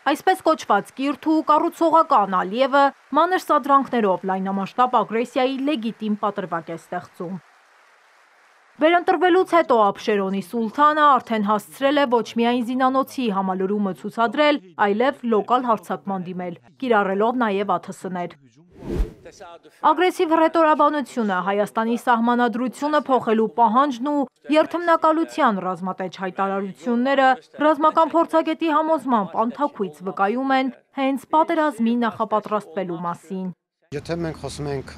Այսպես կոչված կիրթ ու կառուցողական Ալիևը մանր սադրանքներով լայնամասշտաբ ագրեսիայի լեգիտիմ պատրվակ է ստեղծում։ Վերընտրվելուց հետո Աբշերոնի սուլթանը արդեն հասցրել է ոչ միայն զինանոցի համալրումը ցուցադրել, այլև լոկալ հարձակման դիմել, կիրառելով նաև ԱԹՍ-ներ։ Ագրեսիվ հռետորաբանությունը, Հայաստանի սահմանադրությունը փոխելու պահանջն ու երթմնակալության ռազմատեչ հայտարարությունները ռազմական փորձագետի համոզմամբ անթաքույց վկայում են հենց պատերազմի նախապատրաստվելու մասին։ Եթե մենք խոսում ենք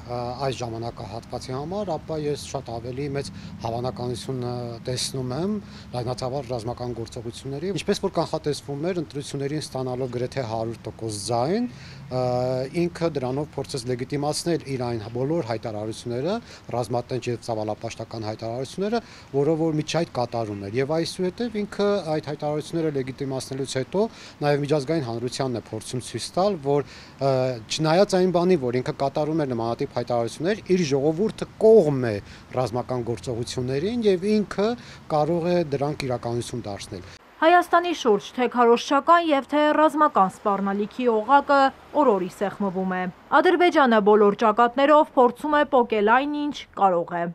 այս ժամանակահատվածի համար, ապա ես շատ ավելի մեծ հավանականություն տեսնում եմ լայնածավալ ռազմական գործողությունների, ինչպես որ կանխատեսվում էր ընտրություններին ստանալով գրեթե 100% ձայն, ինքը դրանով փորձեց լեգիտիմացնել իր այն բոլոր հայտարարությունները, ռազմատենչ եւ ծավալապաշտական հայտարարությունները, որով որ միջայդ կատարում էր, եւ այսուհետեւ ինքը այդ հայտարարությունները լեգիտիմացնելուց հետո նաեւ միջազգային հանրությանն է փորձում ցույց տալ, որ չնայած այն բանի, որ ինքը կատարում էր նմանատիպ հայտարարություններ, իր ժողովուրդը կողմ է ռազմական գործողություններին եւ ինքը կարող է դրանք իրականություն դարձնել։ Հայաստանի շուրջ թե քարոզչական եւ թե ռազմական սպառնալիքի օղակը օր-օրի սեղմվում է։ Ադրբեջանը բոլոր ճակատներով փորձում է պոկել այն, ինչ կարող է։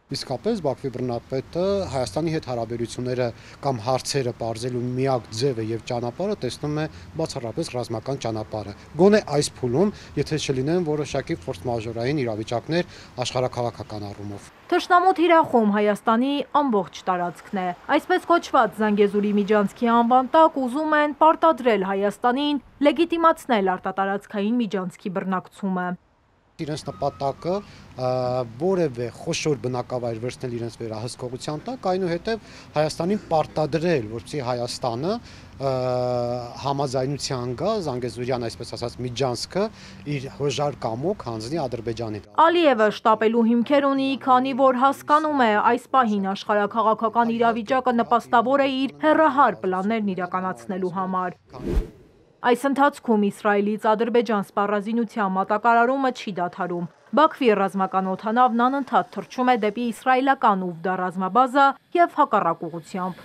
Իսկապես Բաքվի բռնապետը Հայաստանի հետ հարաբերությունները կամ հարցերը պարզելու միակ ձևը եւ ճանապարհը տեսնում է բացառապես ռազմական ճանապարհը։ Գոնե այս փուլում, եթե չլինեն որոշակի ֆորս-մաժորային իրավիճակներ աշխարհաքաղաքական առումով։ Թշնամու թիրախում Հայաստանի ամբողջ տարածքն է։ Այսպես կոչված Զանգեզուրի միջանցքի անվան տակ ուզում են պարտադրել Հայաստանին լեգիտիմացնել արտատարածքային միջանցքի բռնակցումը։ Իրենց նպատակը որևէ խոշոր բնակավայր վերցնել իրենց վերահսկողության տակ, այնուհետև Հայաստանին պարտադրել, որպեսզի Հայաստանը համաձայնության գա Զանգեզուրյան, այսպես ասած, միջանցքը իր հոժար կամոք հանձնի Ադրբեջանին։ Ալիևը շտապելու հիմքեր ունի, քանի որ հասկանում է այս պահին աշխարհաքաղաքական իրավիճակը նպաստավոր է իր հեռահար պլաններն իրականացնելու համար։ Այս ընթացքում Իսրայելից Ադրբեջան սպառազինության մատակարարումը չի դադարում։ Բաքվի ռազմական օդանավն անընդհատ թռչում է դեպի իսրայելական Ուվդա ռազմաբազա եւ հակառակ ուղղությամբ։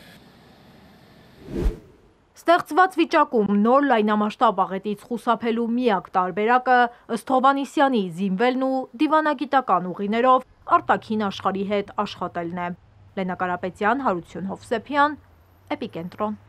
Ստեղծված վիճակում նոր լայնամասշտաբ աղետից խուսափելու միակ տարբերակը ըստ Հովհաննիսյանի զինվելն ու դիվանագիտական ուղիներով արտաքին աշխարհի հետ աշխատելն է։ Լենա Կարապետյան, Հարություն Հովսեփյան, Էպիկենտրոն։